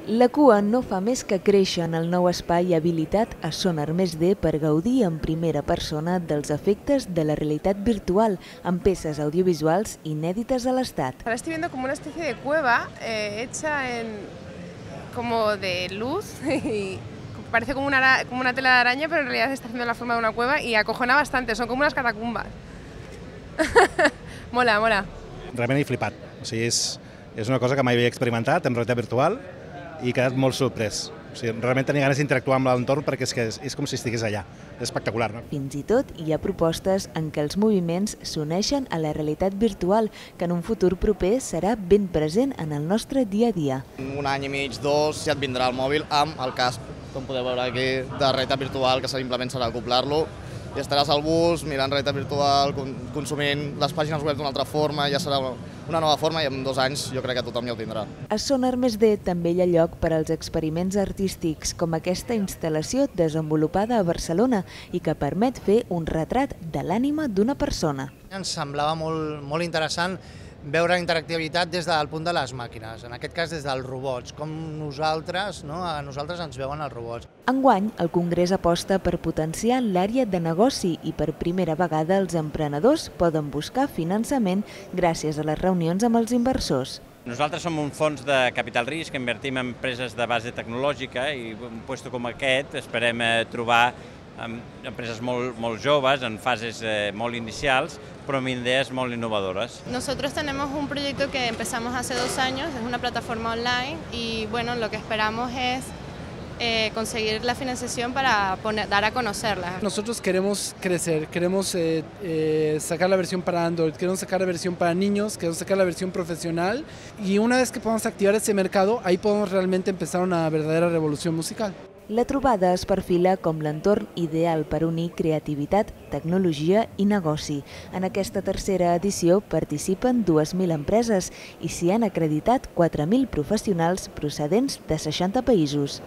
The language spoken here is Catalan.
La cua no fa més que créixer en el nou espai habilitat a Sonar +D per gaudir en primera persona dels efectes de la realitat virtual amb peces audiovisuals inèdites a l'Estat. Ahora estoy viendo como una especie de cueva hecha como de luz y parece como una tela de araña, pero en realidad está haciendo la forma de una cueva y acojona bastante, son como unas catacumbas. Mola, mola. Realment he flipat. O sigui, és una cosa que mai havia experimentat en realitat virtual i he quedat molt sorprès. O sigui, realment tenia ganes d'interactuar amb l'entorn perquè és com si estigués allà. És espectacular, no? Fins i tot hi ha propostes en què els moviments s'uneixen a la realitat virtual, que en un futur proper serà ben present en el nostre dia a dia. Un any i mig, dos, ja et vindrà el mòbil amb el casc, com podeu veure aquí, de realitat virtual, que simplement serà acoplar-lo. I estaràs al bus, mirant realitat virtual, consumint les pàgines web d'una altra forma, ja serà una nova forma i en 2 anys jo crec que tothom ja ho tindrà. A Sonar +D també hi ha lloc per als experiments artístics, com aquesta instal·lació desenvolupada a Barcelona i que permet fer un retrat de l'ànima d'una persona. Ens semblava molt interessant veure interactivitat des del punt de les màquines, en aquest cas des dels robots, com a nosaltres ens veuen els robots. Enguany, el Congrés aposta per potenciar l'àrea de negoci i per primera vegada els emprenedors poden buscar finançament gràcies a les reunions amb els inversors. Nosaltres som un fons de capital risc, invertim en empreses de base tecnològica i un lloc com aquest esperem trobar empreses molt joves, en fases molt inicials, pero con ideas muy innovadoras. Nosotros tenemos un proyecto que empezamos hace 2 años, es una plataforma online y bueno, lo que esperamos es conseguir la financiación para dar a conocerla. Nosotros queremos crecer, queremos sacar la versión para Android, queremos sacar la versión para niños, queremos sacar la versión profesional y una vez que podamos activar ese mercado, ahí podemos realmente empezar una verdadera revolución musical. La trobada es perfila com l'entorn ideal per unir creativitat, tecnologia i negoci. En aquesta tercera edició participen 2.000 empreses i s'hi han acreditat 4.000 professionals procedents de 60 països.